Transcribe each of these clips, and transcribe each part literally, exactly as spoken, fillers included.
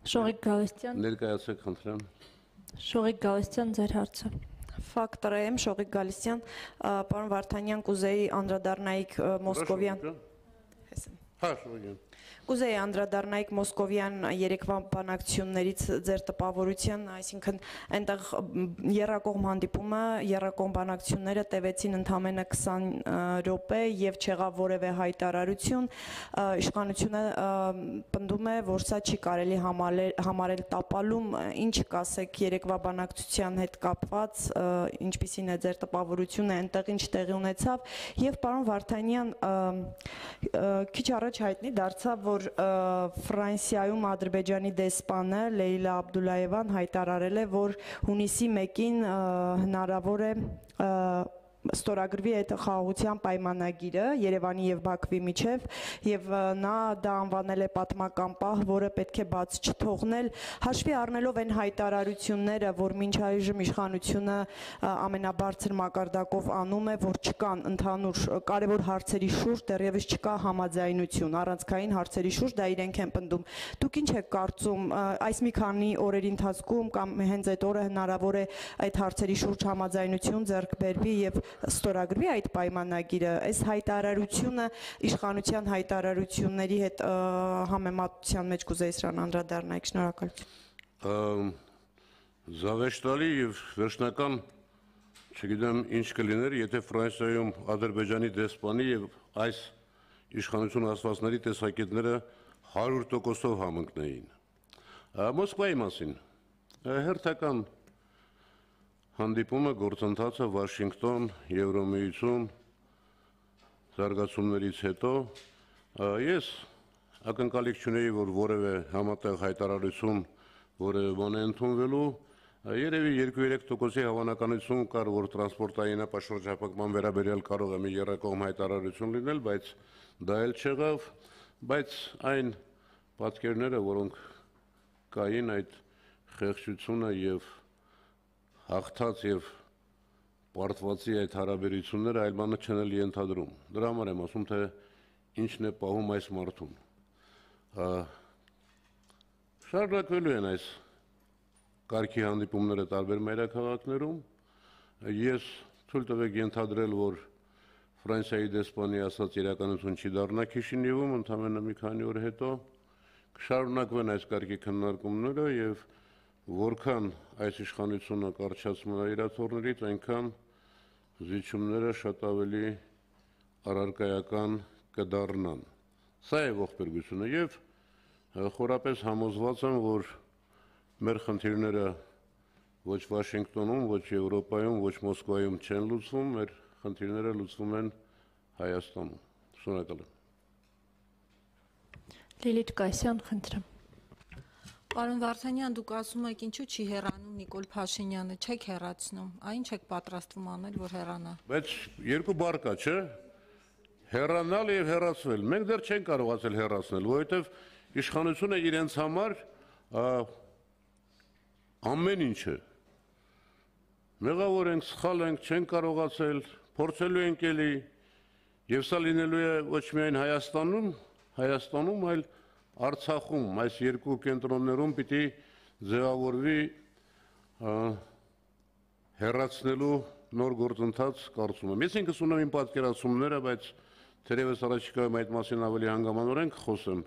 Շողիկ Գալստյան, Ներկայացեք խնդրեմ։ Շողիկ Գալստյան, ձեր հարցը։ Ֆակտոր եմ, Շողիկ Գալստյան, պարոն Վարդանյան, կուզեի անդրադառնայիք Մոսկովյան։ Հա, Շողիկ։ Կուզեի անդրադառնայիք Մոսկովյան երեկվա բանակցություններից ձեր տպավորության, այսինքն այնտեղ եռակողմ հանդիպումը, եռակողմ բանակցությունները տևեցին ընդամենը քսան րոպե եւ չեղավ որևէ հայտարարություն, իշխանությունը պնդում է, որ սա չի կարելի համարել տապալում, ինչ կասեք երեկվա բանակցության հետ կապված, ինչպիսին է ձեր տպավորությունը, այնտեղ ինչ տեղի ունեցավ եւ պարոն Վարդանյան քիչ առաջ հայտնի դարձավ, որ Ֆրանսիայում Ադրբեջանի դեսպանը Լեյլա Աբդուլլայևան հայտարարել է, որ հունիսի մեկին հնարավոր է ստորագրվի այդ խաղաղության պայմանագիրը Երևանի եւ Բաքվի միջև եւ նա դա անվանել է պատմական պահ, որը պետք է բաց չթողնել, հաշվի առնելով այն հայտարարությունները, որ մինչ այժմ իշխանությունը ամենաբարձր մակարդակով անում է, որ չկան ընդհանուր կարևոր հարցերի շուրջ դեռևս չկա համաձայնություն, առանցքային հարցերի շուրջ դա իրենք են պնդում։ Դուք ինչ եք կարծում, այս մի քանի օրերի ընթացքում կամ հենց այդ օրը հնարավոր է այդ հարցերի շուրջ համաձայնություն ձեռք բերվի եւ ստորագրվի այդ պայմանագիրը, այս հայտարարությունը իշխանության հայտարարությունների հետ համեմատության մեջ կուզեի սրան անդրադառնայիք, շնորհակալություն։ Զավեշտալի եւ վերջնական, չգիտեմ ինչ կլիներ, եթե Ֆրանսիայում Ադրբեջանի դեսպանի եւ այս իշխանություն ասվածների տեսակետները հարյուր տոկոսով համընկնեին։ Մոսկվայի մասին հերթական հանդիպումը գործընթացը Վաշինգտոն, Եվրոմիություն զարգացումներից հետո ես ակնկալիք չունեի, որ որևէ համատեղ հայտարարություն որևէ բան է ընդունվելու, երևի երկու-երեք տոկոսի հավանականություն կար, որ տրանսպորտային ապաշրջափակման վերաբերյալ կարող է մի եռակողմ հայտարարություն լինել, բայց դա էլ չեղավ, բայց այն պատկերները, որոնք կային այդ խեղճությունը եւ հաղթած եւ պարտվածի այդ հարաբերությունները այլ բանը չեն էլ ենթադրում։ Դրա համար եմ ասում, թե ինչն է պահում այս մարդուն։ Շարունակվելու են այս կարգի հանդիպումները տարբեր մայրաքաղաքներում։ Ես թույլ տվեք ենթադրել, որ Ֆրանսիայի դեսպանի ասած իրականություն չի դառնա Քիշինևում, ընդամենը մի քանի օր հետո կշարունակվեն այս կարգի քննարկումները եւ որքան այս իշխանությունը կառչացնում է իր աթոռներից, այնքան զիջումները շատ ավելի առարկայական կդառնան։ Սա է ողբերգությունը եւ խորապես համոզված եմ, որ մեր խնդիրները ոչ Վաշինգտոնում, ոչ Եվրոպայում, ոչ Մոսկվայում չեն լուծվում, մեր խնդիրները լուծվում են Հայաստանում։ Շնորհակալ եմ։ Լիլիթ Կասյան, խնդրեմ։ Պարոն Վարդանյան, դուք ասում եք ինչու չի հեռանում Նիկոլ Փաշինյանը, չեք հեռացնում, այն չեք պատրաստվում անել, որ հեռանա։ Բայց երկու բառ կա, չէ՞։ Հեռանալ եւ հեռացվել։ Մենք դեռ չենք կարողացել հեռացնել, որովհետեւ իշխանությունը իրենց համար ամեն ինչ է։ Մեղավոր ենք, սխալ ենք, չենք կարողացել, փորձելու ենք էլի, եւ սա լինելու է ոչ միայն Հայաստանում, Հայաստանում, այլ Արցախում, այս երկու կենտրոններում պիտի ձևավորվի հեռացնելու նոր գործընթաց կարծում եմ։ Ես ինքս ունեմ իմ պատկերացումները, բայց թերևս առաջիկայում այդ մասին ավելի հանգամանորեն կխոսեմ,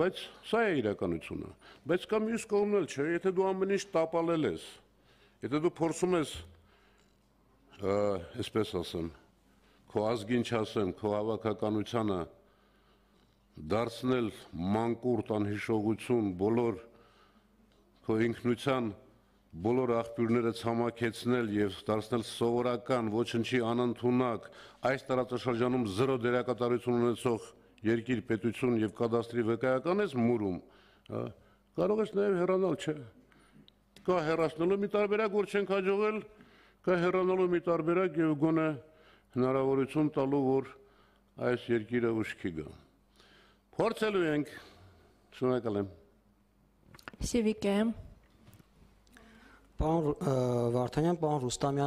բայց սա է իրականությունը։ Բայց կա մյուս կողմն էլ, չէ, եթե դու ամեն ինչ տապալել ես, եթե դու փորձում ես, այսպես ասեմ, քո ազգին չասեմ, քո հավաքականությանը դարձնել մանկուրտ անհիշողություն, բոլոր քո ինքնության բոլոր աղբյուրները ցամաքեցնել եւ դարձնել սովորական, ոչնչի անընդունակ, այս տարածաշրջանում զրո դերակատարություն ունեցող երկիր, պետություն եւ կադաստրի վկայական ես մուրում, կարող ես նաեւ հեռանալ, չէ։ Կա հեռացնելու մի տարբերակ, որ չենք հաջողել, կա հեռանալու մի տարբերակ եւ գոնե հնարավորություն տալու, որ այս երկիրը ուշքի գա։ Փորձելու ենք, շնորհակալ եմ։ Սիվիկեմ։ Պարոն Վարդանյան, պարոն Ռուստամյան